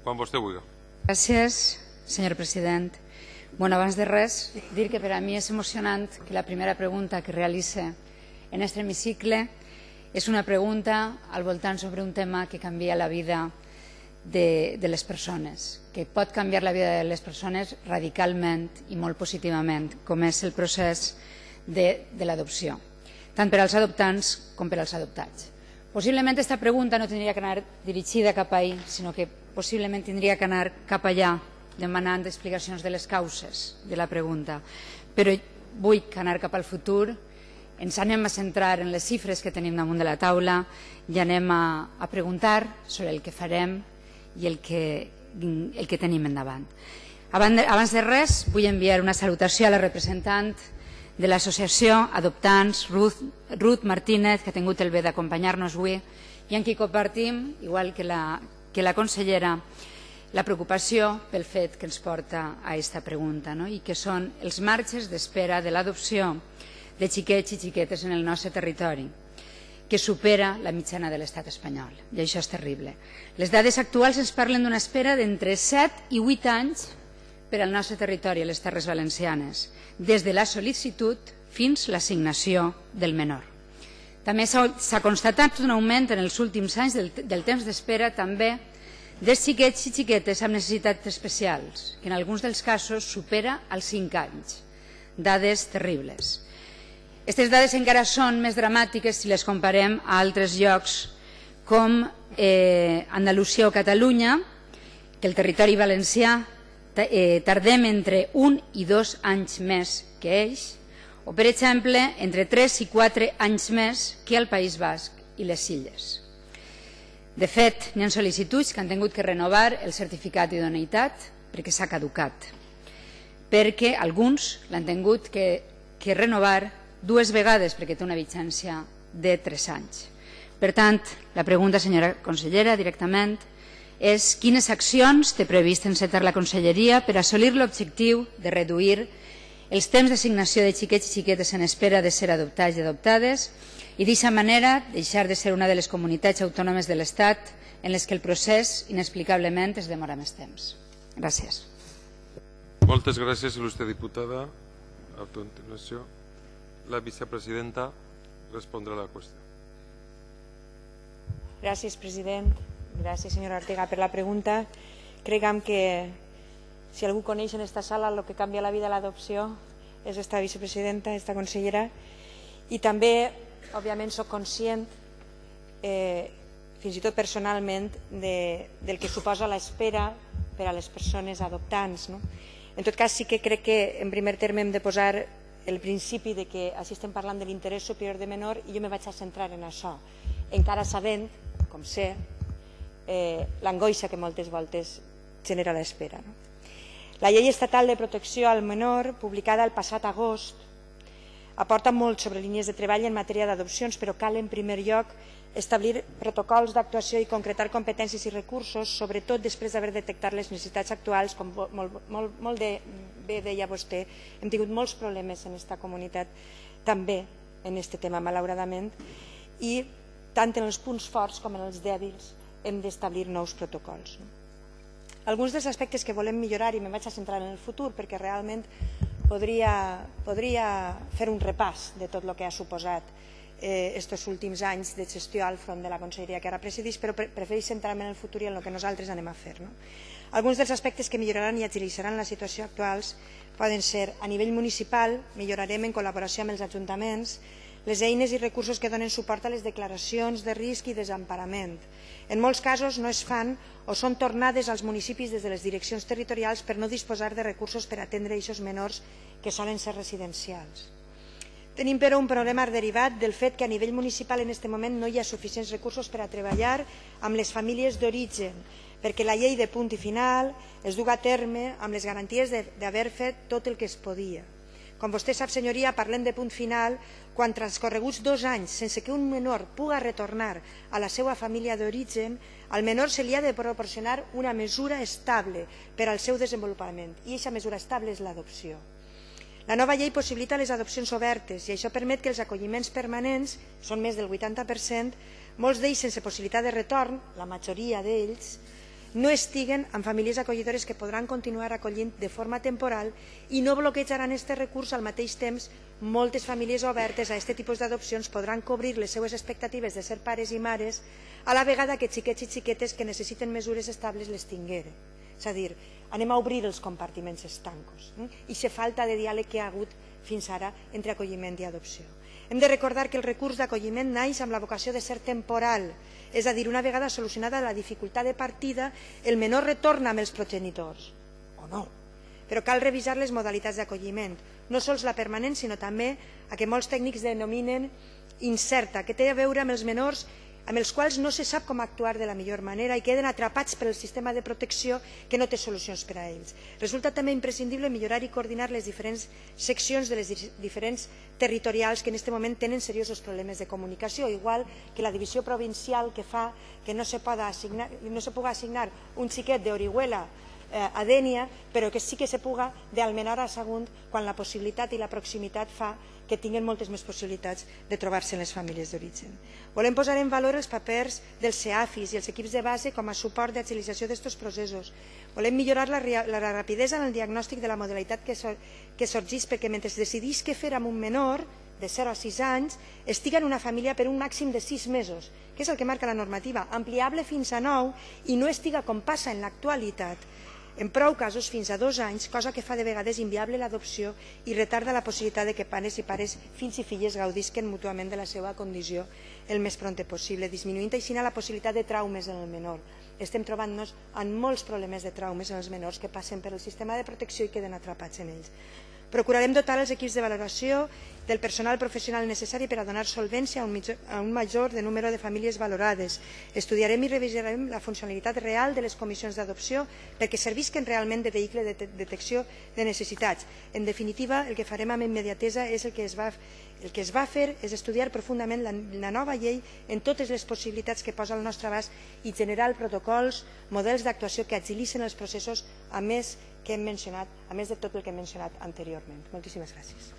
Quan vostè vulgui. Gràcies, senyor president. Bueno, abans de res, dir que per a mi és emocionant que la primera pregunta que realitze en aquest hemicicle és una pregunta al voltant sobre un tema que canvia la vida de les persones, que pot canviar la vida de les persones radicalment i molt positivament, com és el procés de l'adopció, tant per als adoptants com per als adoptats. Possiblement aquesta pregunta no tindria que anar dirigida cap ahí, sinó que possiblement tindria que anar cap allà, demanant explicacions de les causes de la pregunta. Però vull anar cap al futur, ens anem a centrar en les xifres que tenim damunt de la taula i anem a preguntar sobre el que farem i el que tenim endavant. Abans de res, vull enviar una salutació a la representant de l'associació Adoptants, Ruth Martínez, que ha tingut el bé d'acompanyar-nos avui i en qui compartim, igual que la consellera, la preocupació pel fet que ens porta a aquesta pregunta, i que són els marges d'espera de l'adopció de xiquets i xiquetes en el nostre territori, que supera la mitjana de l'estat espanyol, i això és terrible. Les dades actuals ens parlen d'una espera d'entre 7 i 8 anys per al nostre territori, a les Terres Valencianes, des de la sol·licitud fins a l'assignació del menor. També s'ha constatat un augment en els últims anys del temps d'espera també dels xiquets i xiquetes amb necessitats especials, que en alguns dels casos supera els 5 anys. Dades terribles. Aquestes dades encara són més dramàtiques si les comparem a altres llocs com Andalusia o Catalunya, que el territori valencià tardem entre 1 i 2 anys més que ells, o per exemple entre 3 i 4 anys més que al País Basc i les Illes. De fet, n'hi ha sol·licituds que han tingut que renovar el certificat d'idoneïtat perquè s'ha caducat, perquè alguns l'han tingut que renovar 2 vegades perquè té una vigència de 3 anys. Per tant, la pregunta, senyora consellera, directament, és quines accions té previst encetar la conselleria per assolir l'objectiu de reduir els temps d'assignació de xiquets i xiquetes en espera de ser adoptats i adoptades i d'aquesta manera deixar de ser una de les comunitats autònomes de l'Estat en les que el procés inexplicablement es demora més temps. Gràcies. Moltes gràcies, il·lustre diputada. A continuació, la vicepresidenta respondrà a la qüestió. Gràcies, president. Gràcies, senyora Ortega, per la pregunta. Crec que si algú coneix en esta sala el que canvia la vida a l'adopció és esta vicepresidenta, esta consellera, i també, òbviament, soc conscient, fins i tot personalment, del que suposa l'espera per a les persones adoptants. En tot cas, sí que crec que en primer terme hem de posar el principi de que així estem parlant de l'interès superior de menor i jo me vaig a centrar en això, encara sabent, com sé, l'angoixa que moltes voltes genera l'espera. La Llei Estatal de Protecció al Menor, publicada el passat agost, aporta molt sobre línies de treball en matèria d'adopcions, però cal en primer lloc establir protocols d'actuació i concretar competències i recursos, sobretot després d'haver detectat les necessitats actuals, com molt bé deia vostè, hem tingut molts problemes en aquesta comunitat, també en aquest tema, malauradament, i tant en els punts forts com en els dèbils hem d'establir nous protocols. Alguns dels aspectes que volem millorar, i me vaig a centrar en el futur perquè realment podria fer un repàs de tot el que ha suposat aquests últims anys de gestió al front de la conselleria que ara presideix, però prefereix centrar-me en el futur i en el que nosaltres anem a fer. Alguns dels aspectes que milloraran i agilitzaran la situació actuals poden ser, a nivell municipal, millorarem en col·laboració amb els ajuntaments les eines i recursos que donen suport a les declaracions de risc i desemparament. En molts casos no es fan o són tornades als municipis des de les direccions territorials per no disposar de recursos per atendre aquests menors que solen ser residencials. Tenim, però, un problema derivat del fet que a nivell municipal en aquest moment no hi ha suficients recursos per a treballar amb les famílies d'origen, perquè la llei de punt i final es duga a terme amb les garanties d'haver fet tot el que es podia. Com vostè sap, senyoria, parlem de punt final quan transcorreguts 2 anys sense que un menor puga retornar a la seva família d'origen, al menor se li ha de proporcionar una mesura estable per al seu desenvolupament, i aquesta mesura estable és l'adopció. La nova llei possibilita les adopcions obertes i això permet que els acolliments permanents, són més del 80%, molts d'ells sense possibilitat de retorn, la majoria d'ells, no estiguen en famílies acollidores que podran continuar acollint de forma temporal i no bloquejaran aquest recurs. Al mateix temps, moltes famílies obertes a aquest tipus d'adopcions podran cobrir les seues expectatives de ser pares i mares a la vegada que xiquets i xiquetes que necessiten mesures estables les tingueren. És a dir, anem a obrir els compartiments estancos i la falta de diàleg que hi ha hagut fins ara entre acolliment i adopció. Hem de recordar que el recurs d'acolliment naix amb la vocació de ser temporal, és a dir, una vegada solucionada la dificultat de partida, el menor retorna amb els progenitors, o no. Però cal revisar les modalitats d'acolliment, no sols la permanent, sinó també a que molts tècnics denominen incerta, que té a veure amb els menors amb els quals no se sap com actuar de la millor manera i queden atrapats pel sistema de protecció que no té solucions per a ells. Resulta també imprescindible millorar i coordinar les diferents seccions de les diferents territorials que en aquest moment tenen seriosos problemes de comunicació, igual que la divisió provincial que fa que no se pugui assignar un xiquet d'Orihuela a Dénia, però que sí que se puga d'Almenara a Sagunt, quan la possibilitat i la proximitat fa que tinguin moltes més possibilitats de trobar-se en les famílies d'origen. Volem posar en valor els papers dels CEAFIs i els equips de base com a suport d'agilització d'aquests processos. Volem millorar la rapidesa en el diagnòstic de la modalitat que sorgeix, perquè mentre decidís què fer amb un menor de 0 a 6 anys, estiga en una família per un màxim de 6 mesos, que és el que marca la normativa, ampliable fins a 9 i no estiga, com passa en l'actualitat, en prou casos fins a 2 anys, cosa que fa de vegades inviable l'adopció i retarda la possibilitat de que pares i pares, fills i filles gaudisquen mútuament de la seva condició el més prompte possible, disminuint així la possibilitat de traumes en el menor. Estem trobant-nos amb molts problemes de traumes en els menors que passen per el sistema de protecció i queden atrapats en ells. Procurarem dotar els equips de valoració del personal professional necessari per a donar solvència a un major número de famílies valorades. Estudiarem i revisarem la funcionalitat real de les comissions d'adopció perquè servisquen realment de vehicle de detecció de necessitats. En definitiva, el que farem amb immediatesa és el que es va fer és estudiar profundament la nova llei en totes les possibilitats que posa al nostre abast i generar protocols, models d'actuació que agilitzen els processos, a més de tot el que hem mencionat anteriorment. Moltíssimes gràcies.